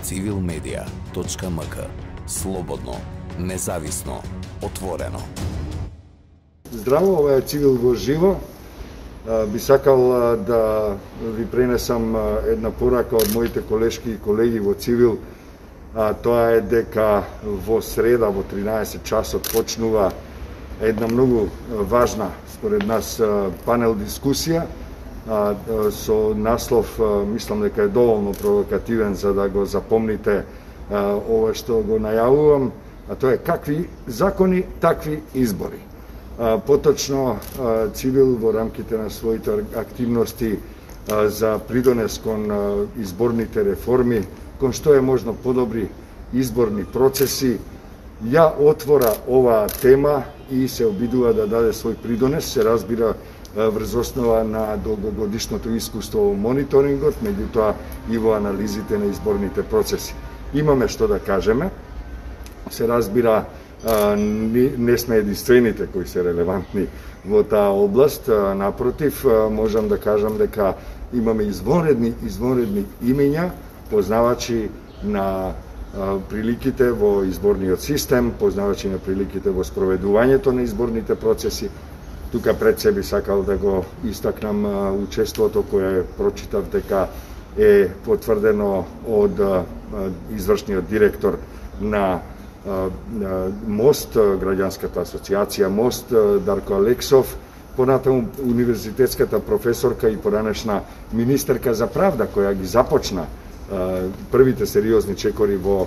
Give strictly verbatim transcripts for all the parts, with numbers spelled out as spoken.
цивил медија точка ем ка. Слободно, независно, отворено. Здраво, ова е Цивил во живо. Би сакал да ви пренесам една порака од моите колешки и колеги во Цивил. Тоа е дека во среда во тринаесет часот почнува една многу важна, според нас, панел дискусија со наслов, мислам дека е доволно провокативен за да го запомните ова што го најавувам, а тоа е какви закони, такви избори. Поточно Цивил во рамките на своите активности за придонес кон изборните реформи, кон што е можно подобри изборни процеси, ја отвора оваа тема и се обидува да даде свој придонес, се разбира врз основа на долгогодишното искуство во мониторингот, меѓутоа и во анализите на изборните процеси. Имаме што да кажеме, се разбира, не сме единствените кои се релевантни во таа област, напротив, можам да кажам дека имаме извонредни, извонредни имења, познавачи на приликите во изборниот систем, познавачи на приликите во спроведувањето на изборните процеси. Тука пред себе сакал да го истакнам учеството кое прочитав дека е потврдено од извршниот директор на МОСТ, граѓанската асоциација МОСТ, Дарко Алексов, понатаму универзитетската професорка и поранешна министерка за правда, која ги започна првите сериозни чекори во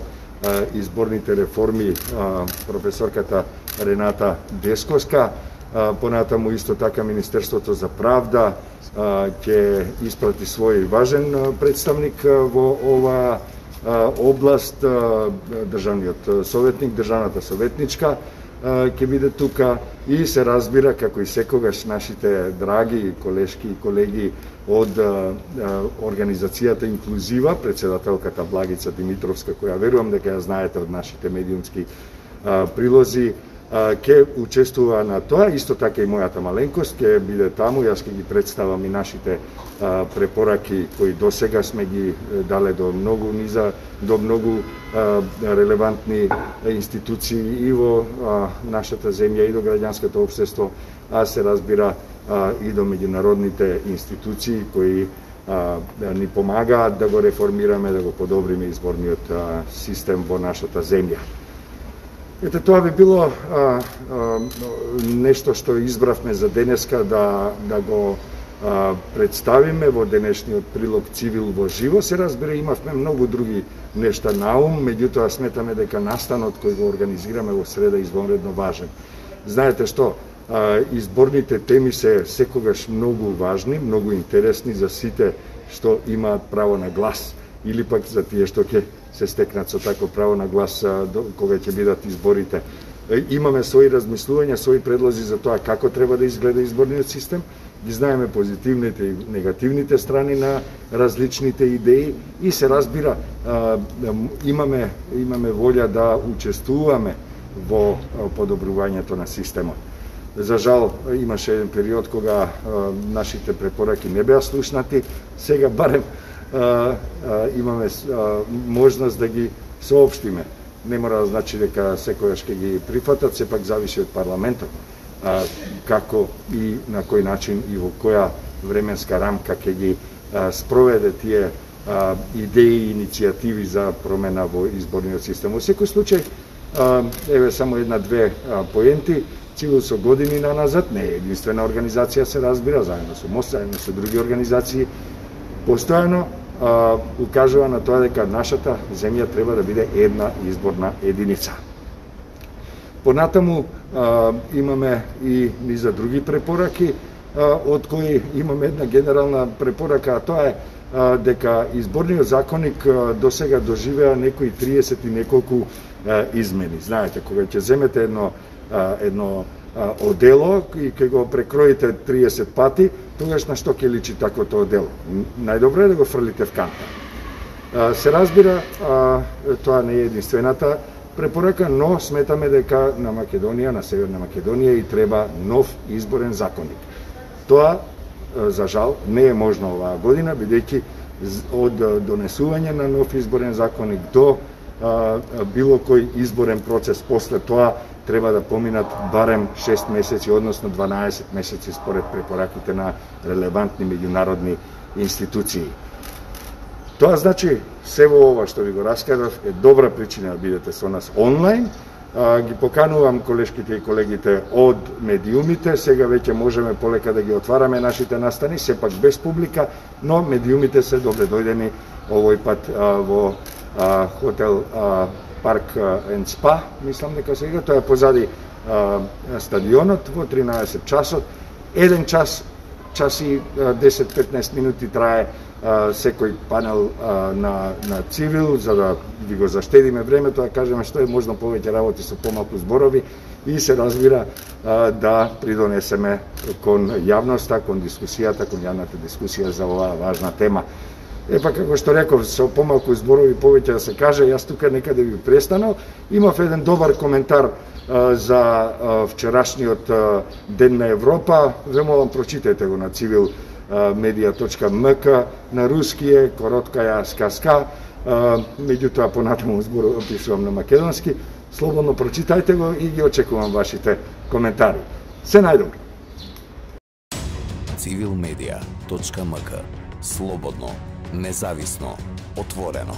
изборните реформи, професорката Рената Десковска, понатаму исто така Министерството за правда ќе испрати свој важен представник во ова област, државниот советник, државната советничка ќе биде тука и се разбира, како и секогаш, нашите драги колешки и колеги од организацијата Инклузива, председателката Благица Димитровска, која верувам дека ја знаете од нашите медиумски прилози, ќе учествува на тоа, исто така и мојата маленкост ќе биде таму, јас ќе ги представам и нашите а, препораки кои досега сме ги дале до многу низа, до многу а, релевантни институции и во а, нашата земја и до граѓанското општество, а се разбира а, и до меѓународните институции кои а, ни помагаат да го реформираме, да го подобриме изборниот а, систем во нашата земја. Ете, тоа би било а, а, нешто што избравме за денеска да, да го а, представиме во денешниот прилог Цивил во живо. Се разбира, имавме многу други нешта на ум, меѓутоа сметаме дека настанот кој го организираме во среда е извонредно важен. Знаете што, а, изборните теми се секогаш многу важни, многу интересни за сите што имаат право на глас или пак за тие што ќе се стекнат со тако право на глас кога ќе бидат изборите. Имаме своји размислувања, своји предлози за тоа како треба да изгледа изборниот систем, ги знаеме позитивните и негативните страни на различните идеи и се разбира, имаме, имаме волја да учествуваме во подобрувањето на системот. За жал, имаше еден период кога нашите препораки не беа слушнати, сега барем Uh, uh, имаме uh, можност да ги соопштиме. Не мора да значи дека секојаш ќе ги прифатат, сепак зависи од парламентот. Uh, како и на кој начин и во која временска рамка ќе ги uh, спроведе тие uh, идеи и иницијативи за промена во изборниот систем. Во секој случај, uh, еве само една-две uh, поенти. Цивил со години наназад не е единствена организација, се разбира, заедно со МОСТ, заедно со други организации, постојано а, укажува на тоа дека нашата земја треба да биде една изборна единица. Понатаму а, имаме и низа други препораки, а, од кои имаме една генерална препорака, а тоа е а, дека изборниот законник а, досега доживеа некои триесет и неколку а, измени. Знаете, кога ќе земете едно, а, едно а, одело и ќе го прекроите триесет пати, тогаш на што ќе личи таквото одело? Најдобро е да го фрлите в канта. Се разбира, тоа не е единствената препорака, но сметаме дека на Македонија, на Северна Македонија и треба нов изборен законник. Тоа, за жал, не е можно оваа година, бидејќи од донесување на нов изборен законник до а, било кој изборен процес. После тоа треба да поминат барем шест месеци, односно дванаесет месеци според препораките на релевантни меѓународни институции. Тоа значи, се во ова што ви го раскажав е добра причина да бидете со нас онлайн. А, ги поканувам колешките и колегите од медиумите, сега веќе можеме полека да ги отвараме нашите настани, сепак без публика, но медиумите се добре дојдени овој пат а, во а, хотел а, Парк енд Спа, мислам дека сега, тоа е позади а, стадионот во тринаесет часот. Еден час, час и десет-петнаесет минути трае а, секој панел а, на, на цивил, за да ви го заштедиме времето, да кажеме што е можно повеќе работи со помалку зборови и се разбира а, да придонесеме кон јавноста, кон дискусијата, кон јавната дискусија за оваа важна тема. Епа, како што реков, со помалку зборови повеќе да се каже, јас тука некаде би престанал. Имав еден добар коментар а, за а, вчерашниот а, Ден на Европа. Ве молам, прочитајте го на цивил медија точка ем ка, на руски е, коротка ја сказка, а, меѓутоа понатаму зборот описувам на македонски. Слободно прочитајте го и ги очекувам вашите коментари. Се најдобро. цивил медија точка ем ка. Слободно, независно, отворено.